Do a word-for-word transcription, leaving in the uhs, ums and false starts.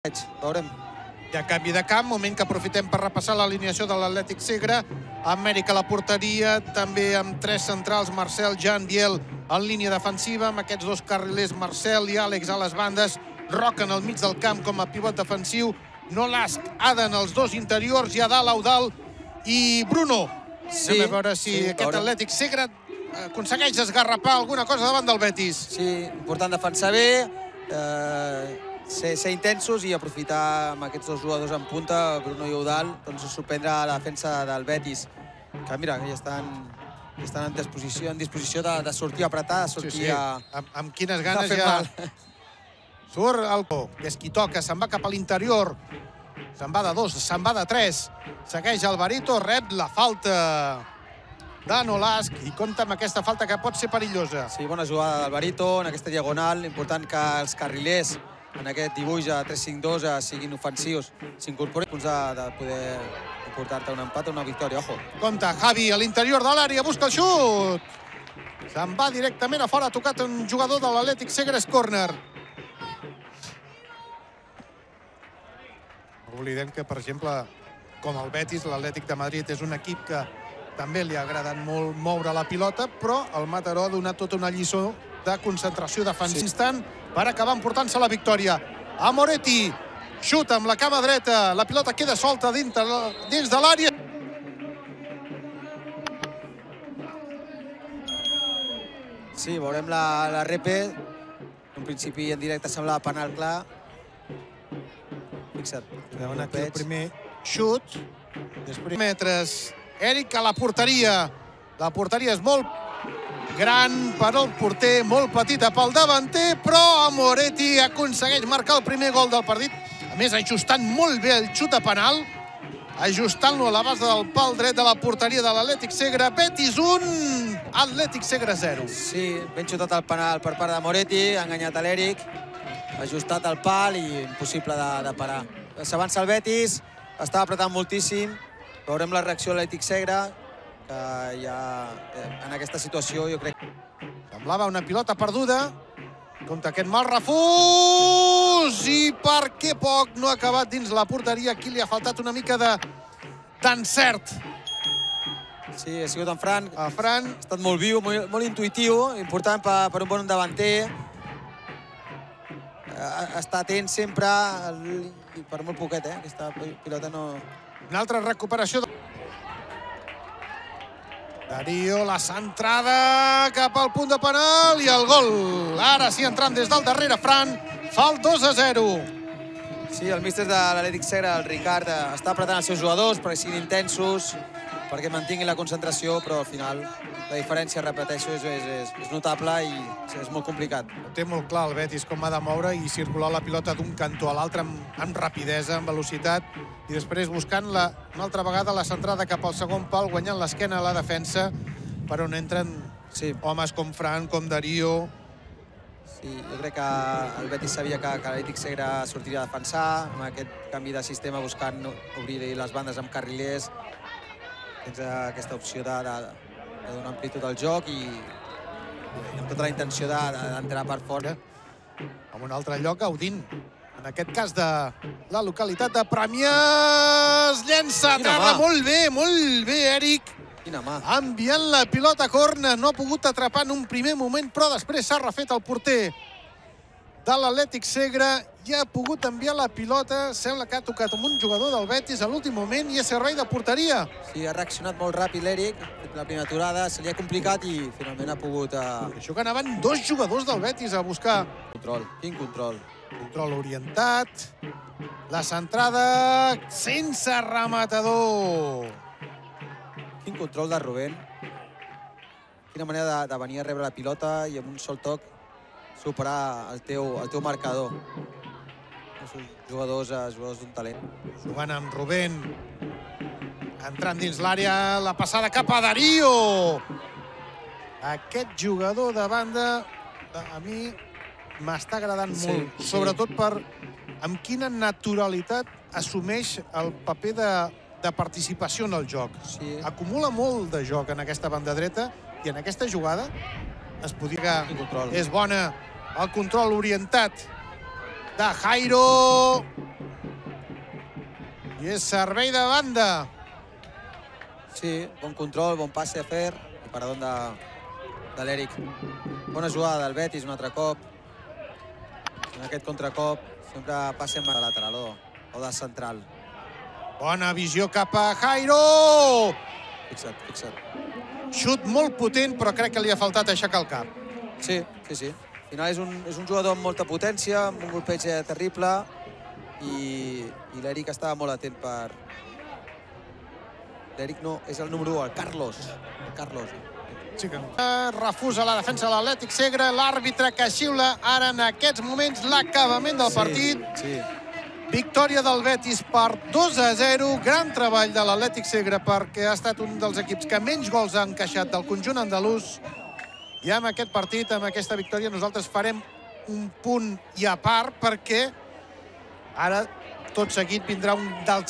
Veurem. Hi ha canvi de camp, moment que aprofitem per repassar l'alineació de l'Atlètic Segre. Amèrica a la porteria, també amb tres centrals, Marcel, Jan, Biel en línia defensiva, amb aquests dos carrilers, Marcel i Àlex a les bandes, Roca en el mig del camp com a pivot defensiu, Nolasc, Aden els dos interiors, i a dalt Eudal i Bruno. Sí, Anem a veure si sí, aquest veurem. Atlètic Segre aconsegueix esgarrapar alguna cosa davant del Betis. Sí, important defensar bé, eh, ser, ser intensos i aprofitar amb aquests dos jugadors en punta, Bruno i Eudal, doncs sorprendre la defensa del Betis, que mira, ja estan, ja estan en disposició, en disposició de, de sortir a apretar, de sortir sí, sí. a... Amb, amb quines ganes fer ja... mal. Surt el que és qui toca, se'n va cap a l'interior, se'n va de dos, se'n va de tres, segueix Alvarito, rep la falta de Nolasc i compta amb aquesta falta que pot ser perillosa. Sí, bona jugada d'Alvarito en aquesta diagonal, important que els carrilers en aquest dibuix a tres cinc dos siguin ofensius, s'incorporin punts de, de poder portar-te un empat o una victòria, ojo. Compte, Javi a l'interior de l'àrea, busca el xut! Se'n va directament a fora, ha tocat un jugador de l'Atlètic Segre, córner. No oblidem que, per exemple, com el Betis, l'Atlètic de Madrid és un equip que també li ha agradat molt moure la pilota, però el Mataró ha donat tota una lliçó de concentració defensiva. Instant per acabar emportant-se la victòria. A Moretti, xuta amb la cama dreta, la pilota queda solta dins de l'àrea. Sí, veurem la, la repe. En principi, en directe, semblava penal clar. Fixa't. Veuen aquí el primer xut. Després metres. Eric a la porteria. La porteria és molt gran per al porter, molt petita pel davanter, però a Moretti aconsegueix marcar el primer gol del partit. A més, ajustant molt bé el xut a penal, ajustant-lo a la base del pal dret de la porteria de l'Atlètic Segre. Betis un, Atlètic Segre zero. Sí, ben xutat el penal per part de Moretti, ha enganyat a l'Eric, ajustat el pal i impossible de, de parar. S'avança el Betis, està apretant moltíssim. Veurem la reacció de l'Atlètic Segre, que ja en aquesta situació jo crec... Semblava una pilota perduda. Compte aquest mal refús i per què poc no ha acabat dins la porteria. Aquí li ha faltat una mica d'encert. Sí, ha sigut en Fran. A Fran. Ha estat molt viu, molt, molt intuitiu, important per, per un bon davanter. Està atent sempre, i per molt poquet, eh? Aquesta pilota no... Una altra recuperació. Darío, la centrada cap al punt de penal i el gol. Ara sí, entrant des del darrere, Fran, fa el dos a zero. Sí, el míster de l'Atlètic Segre, el Ricard, està apretant els seus jugadors perquè siguin intensos, perquè mantinguin la concentració, però al final la diferència, repeteixo, és, és, és notable i és molt complicat. Ho té molt clar el Betis com ha de moure i circular la pilota d'un cantó a l'altre amb, amb rapidesa, amb velocitat, i després buscant la, una altra vegada la centrada cap al segon pal, guanyant l'esquena a la defensa, per on entren sí. homes com Fran, com Darío. Sí, jo crec que el Betis sabia que, que l'Atlètic Segre sortiria a defensar, amb aquest canvi de sistema buscant obrir les bandes amb carrilers. Tens aquesta opció de, de, de donar amplitud al joc i, i amb tota la intenció d'entrar per fora. En un altre lloc, Gaudint. En aquest cas de la localitat de Premiàs. Llença a terra, molt bé, molt bé, Eric. Quina mà. Enviant la pilota a córner, no ha pogut atrapar en un primer moment, però després s'ha refet el porter de l'Atlètic Segre i ha pogut enviar la pilota. Sembla que ha tocat amb un jugador del Betis a l'últim moment i és servei de porteria. Sí, ha reaccionat molt ràpid l'Eric. La primera aturada se li ha complicat i finalment ha pogut... Uh... Això que anaven dos jugadors del Betis a buscar. Control, quin control. Control orientat. La centrada sense rematador. Quin control de Rubén. Quina manera de, de venir a rebre la pilota i amb un sol toc superar el teu, el teu marcador. Els jugadors, jugadors d'un talent. Jugant amb Rubén. Entrant dins l'àrea, la passada cap a Darío. Aquest jugador de banda, a mi m'està agradant sí, molt. Sí. Sobretot per amb quina naturalitat assumeix el paper de, de participació en el joc. Sí. Acumula molt de joc en aquesta banda dreta i en aquesta jugada es podria... És bona. El control orientat de Jairo. I és servei de banda. Sí, bon control, bon passe a fer i parador de, de l'Eric. Bona jugada del Betis un altre cop. En aquest contracop sempre passe de lateral o, o de central. Bona visió cap a Jairo. Fixa't, fixa't. Xut molt potent, però crec que li ha faltat aixecar el cap. Sí, sí, sí. Al final és un, és un jugador amb molta potència, amb un golpeig terrible i, i l'Eric estava molt atent per... L'Eric no, és el número u, el Carlos. El Carlos. Sí que... Refusa la defensa de l'Atlètic Segre, l'àrbitre que xiula ara en aquests moments l'acabament del partit. Sí, sí. Victòria del Betis per dos a zero. Gran treball de l'Atlètic Segre perquè ha estat un dels equips que menys gols ha encaixat del conjunt andalús. I amb aquest partit, amb aquesta victòria, nosaltres farem un punt i a part perquè ara tot seguit vindrà un dels